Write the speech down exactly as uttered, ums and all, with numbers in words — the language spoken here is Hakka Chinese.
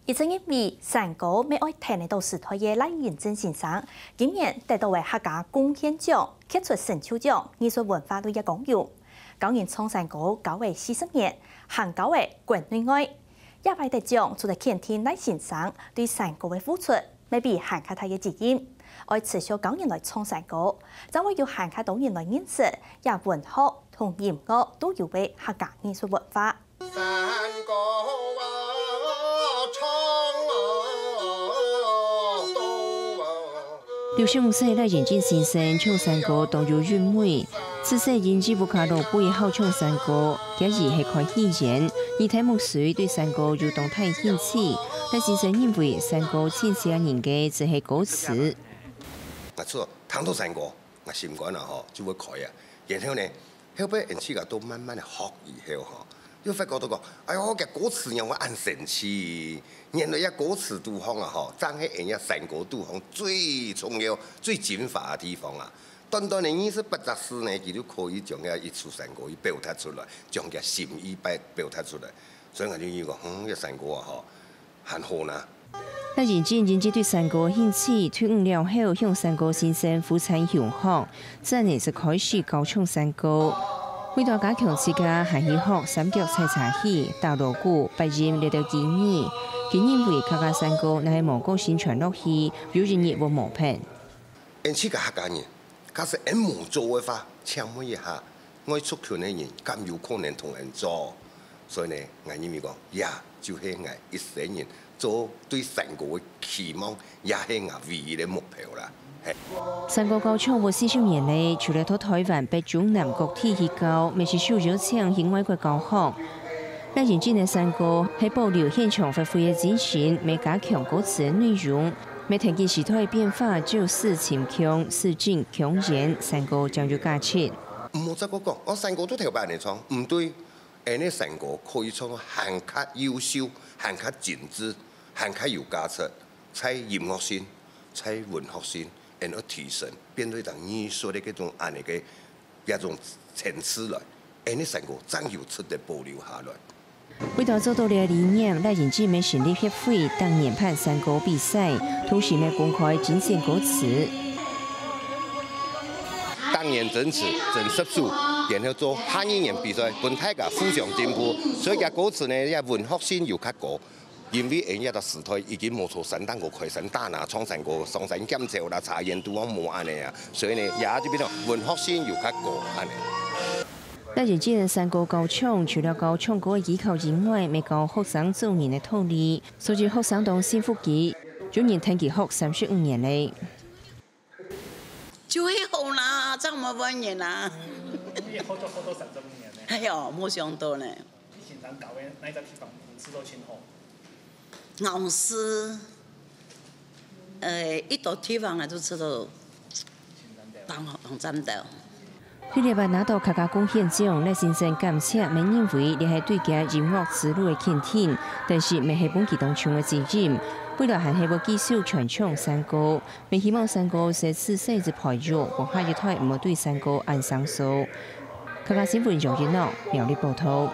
一直認為山歌乜愛跈得到時代个賴仁政先生，今年得到个客家貢獻獎、傑出成就獎、藝術文化類个光榮。教人唱山歌教了四十年，還教了國內外。這擺得獎，除了肯定賴先生對山歌个付出，乜比還較大个責任，愛持續教人來唱山歌，正會有還較多人來認識這文學同音樂都有个客家藝術文化。 山歌啊，唱啊，讀啊。六十五歲賴仁政先生唱山歌當有韻味，自細因為屋下老輩好唱山歌，厥姨係開戲院，二代目隨對山歌有當大興趣。賴先生認為山歌盡吸引人个就係歌詞。𠊎就聽到山歌， 𠊎心肝啊吼，就會開啊。然後呢，後尾𠊎自家都慢慢个學以後吼，又發覺到講，哎喲，這歌詞仰會恁神奇！原來這歌詞肚項啊吼，正係𠊎這山歌肚項最重要、最精華个地方啊。短短个二十八隻字呢，佢就可以將這一首山歌去表達出來，將厥心意表，表達出來。所以𠊎就認為講，嗯，這山歌啊吼， 還好呢。賴仁政因為對山歌興趣，退伍了後，向山歌先生負責遊學，轉而就開始教唱山歌。為著加強自家，還去學三腳採茶戲、打鑼鼓、八音這兜技藝。佢認為客家山歌若係無個性傳落去，有一日會無忒。 𠊎自家客家人，假使𠊎無做个話，請問一下，外族群个人敢有可能同𠊎做？所以呢，𠊎認為講，這就係𠊎一生人做對山歌个期望，也係𠊎唯一个目標啦。嘿。山歌教唱有四十年了，除了到臺灣北中南各地去教，乜係受邀請去外國教學。 賴仁政个山歌係保留現場發揮个精神，乜加強歌詞个內容，乜跈緊時代變化，照字尋腔、字正腔圓，山歌正有價值。毋好再過講，哦，山歌都頭擺恁樣唱，毋對。𠊎个山歌可以唱到還較優秀、還較精緻、還較有價值，在音樂性、在文學性，然後提升，變做一種藝術个這種恁樣个 這種層次來，𠊎个山歌正有值得保留下來。為著做到這理念，賴仁政乜成立協會，逐年辦山歌比賽，同時乜公開精選歌詞。逐年徵詞，徵十首，然後做下二年比賽，分大家互相進步。所以厥歌詞呢，這文學性有較高。 因為𠊎這个時代已經無在山頂高開山打獵、唱山歌、上山撿柴啦、茶園都無恁樣啊，所以呢，這就變成文學性有較高恁樣。賴仁政山歌教唱，除了教唱歌个技巧以外，乜教學生做人个道理，所以學生當信服佢，有人跈佢學三十五年了。 就係好啦，正無問人啊。你學就學到三十五年呢。哎喲，無想到呢。你先生教个哪一隻地方，你知道盡好？老師，呃，一到地方啊，就知道當，當讚的。佢這擺拿到客家貢獻獎，賴先生感謝，乜認為這係對厥音樂之路个肯定，但是乜係分佢當重个責任。未來還係會繼續傳唱山歌， 乜希望山歌係自細就培育，分下一代毋好對山歌恁生疏。客家新聞楊一諾，苗栗報導。